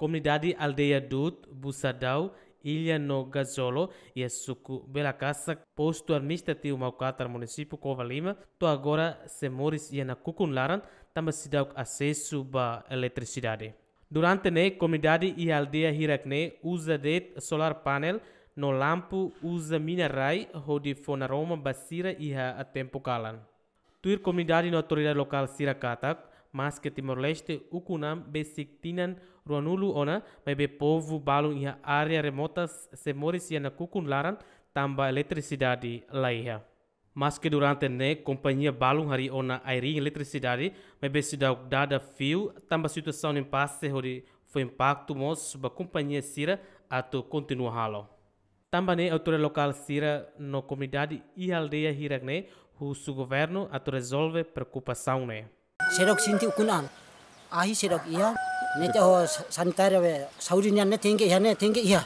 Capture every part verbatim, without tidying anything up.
Komunidade aldeia Dut, Busadau, Ilha no Gazolo, iha suku Belakasak, postu administrativu Maukatar, munisípiu Covalima, to'o agora sei moris iha nakukun laran, tanba seidauk asesu ba eletrisidade. Durante ne'e, komunidade iha aldeia hirak-ne'e uza de'it solar panel no lampu uza mina-rai hodi fó naroman ba sira iha tempu kalan. Tuir komunidade no autoridade lokál sira katak, maske Timor-Leste ukun an besik tinan ruanulu ona, maibé povu balun iha área remotas sei moris iha nakukun laran tanba eletrisidade laiha. Maske durante ne'e kompañia balun harii ona airring eletrisidade, maibé seidauk dada fiu, tanba situasaun impase hodi fó impaktu mós ba kompañia sira atu kontinua halo. Tanba ne'e autoridade lokál sira no komunidade iha aldeia hirak-ne'e husu governu atu rezolve preokupasaun ne'e. Seidauk sente ukun an. Ahi seidauk iha. Ne'e te ho sa-, sanitária be saúde nian ne'e tenke iha, ne'e tenke iha.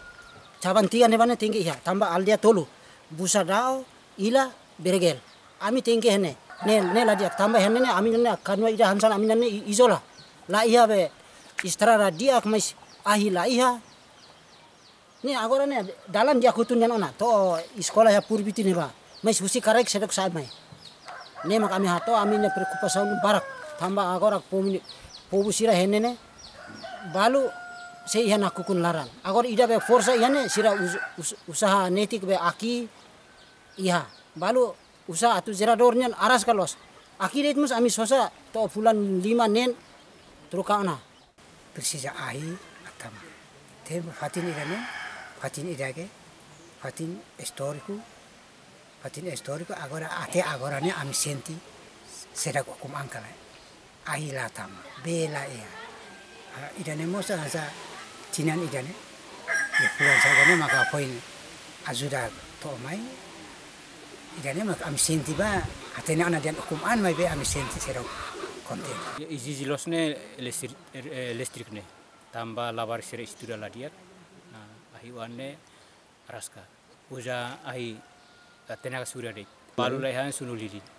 Cabang tiga ne'ebá ne'e tenke iha. Tanba aldeia tolu. Busadau, Ilha, Beregel. Ami tenke iha ne'e. Ne'e, ne'e la di'ak, tanba iha ne'e ne'e ami ne'e kanua ida hanesan ami ne'e i-, izola. La iha be estrada di'ak, mais ahi la iha. Ne'e agora ne'e dalan di'ak hotu nian ona, to'o eskola iha Purbiti ne'ebá. Mais husi karaik seidauk sa'e mai. Ne'e mak ami hato'o ami-nia preokupasaun barak. Tanba agora povu, povu sira iha ne'e ne'e balu sei iha nakukun laran. Agora ida be forsa iha ne'e sira us-, us-, usaha netik be aki iha. Balu usaha atu jeradór nian araska loos. Aki de'it mós ami sosa to'o fulan lima neen troka ona. Presiza ahi atu tama. Tempu fatin ida-ne'e, fatin ida ke, fatin istóriku, fatin istóriku, agora até agora ne'e ami sente seidauk ukun an kala. Ahi la tama, bee la iha. Ah, ida-ne'e mós hanesan tinan ida-ne'e. Ya, fulan saja ne'e maka foin ajuda to'o mai. Ida-ne'e mak ami sente ba, hatene ona dehan ukun an maibé ami sente seidauk kontente. Ya, ezije loos ne'e elestri-, eh, elétriku ne'e. Tanba labarik sira estuda la di'ak. Nah, ahi oan ne'e araska. Uza ahi, eh, tenaga surya de'it. Balu laiha sunu lilin.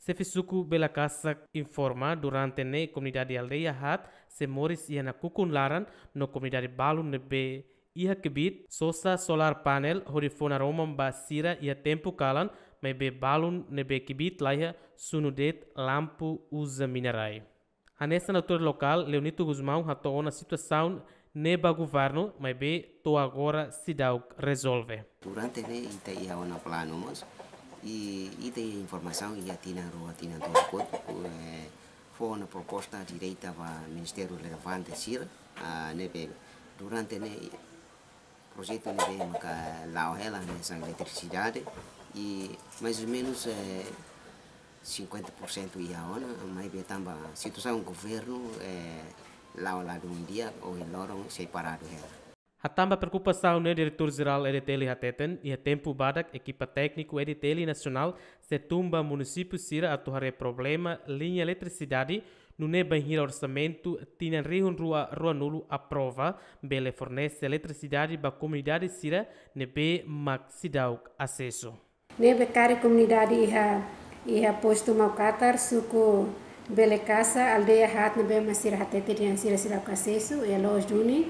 Xefe suku Belakasak informa durante ne'e komunidade aldeia haat sei moris iha nakukun laran no komunidade balun ne'ebé iha kbiit sosa solar panel hodi fó naroman ba sira iha tempu kalan, maibé balun ne'ebé kbiit laiha sunu de'it lampu uza mina-rai. Hanesan autoridade lokál, Leonito Gusmão, hato'o ona situasaun ne'e ba governu, maibé to'o agora seidauk rezolve. Durante ne'e ita iha ona planu mós, i ita iha informasaun iha tinan rua, tinan tolu kotuk, eh, fó ona proposta direta ba ministériu relevante sira, ah, ne'ebé durante ne'e projetu ne'ebé maka la'o hela hanesan eletrisidade, i mais ou menus, eh, cinquenta por cento iha ona, maibé tanba situasaun governu, eh, la'o ladún di'ak, ohin loron sei paradu hela. Hatán ba preokupasaun ne'e, Diretór Jerál E D T L hateten, iha tempu badak ekipa tékniku E D T L nasionál sei tun ba munisípiu sira atu haree problema liña eletrisidade, nune'e bainhira orsamentu tinan rihun rua ruanulu aprova, bele fornese eletrisidade ba komunidade sira ne'ebé mak seidauk asesu. Ne'ebé karik komunidade iha, iha postu Maukatar, suku Belekasa, aldeia haat ne'ebé mak sira hatete dehan sira seidauk asesu, iha loos duni.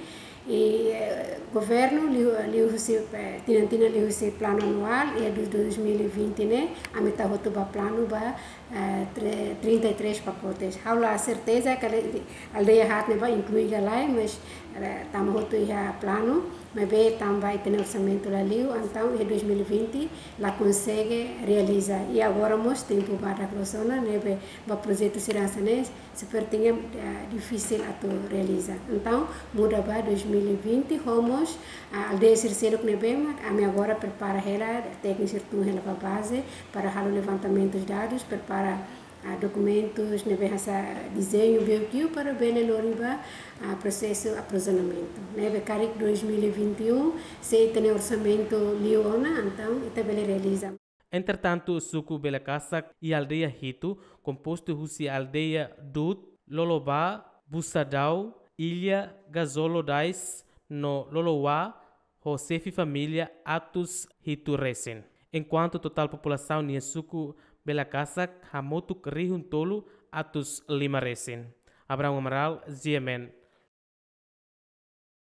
I, eh, governu liu, liuhusi, eh, tinan-tinan liuhusi planu anuál, iha du-, dois mil e vinte ne'e, ami tau hotu ba planu ba, eh, tre-, trinta e três pacotes. Ha'u la serteza katak aldeia haat ne'ebá inklui ka lae, mas, eh, tama hotu iha planu, maibé tanba ita-nia orsamentu la liu, entaun iha dois mil e vinte la konsege realiza. I agora mós tempu badak loos ona, ne'ebé ba projetu sira hanesan ne'e, sepertinya, eh, difisil atu realiza. Entaun, muda ba dois mil e vinte, ho mós, ah, aldeia sira seluk ne'ebé mak, ami agora prepara hela, tékniku sira tun hela ba baze, para halo levantamentus dadus, prepara, ah, dokumentus ne'ebé hanesan dezeñu, B O Q, para bele lori ba, ah, prosesu aprovizionamentu. Ne'ebé karik dois mil e vinte e um, se ita-nia orsamentu liu ona, entaun, ita bele realiza. Entretantu, suku Belekasak iha aldeia hitu, kompostu husi aldeia Dut, Lolobá, Busadau, Ilha, Gazolo Dais, no Loloa, ho xefe família atus hitu resin. Enkuantu totál populasaun iha suku Belekasak hamutuk rihun tolu atus lima resin. Abrão Amaral, G M N,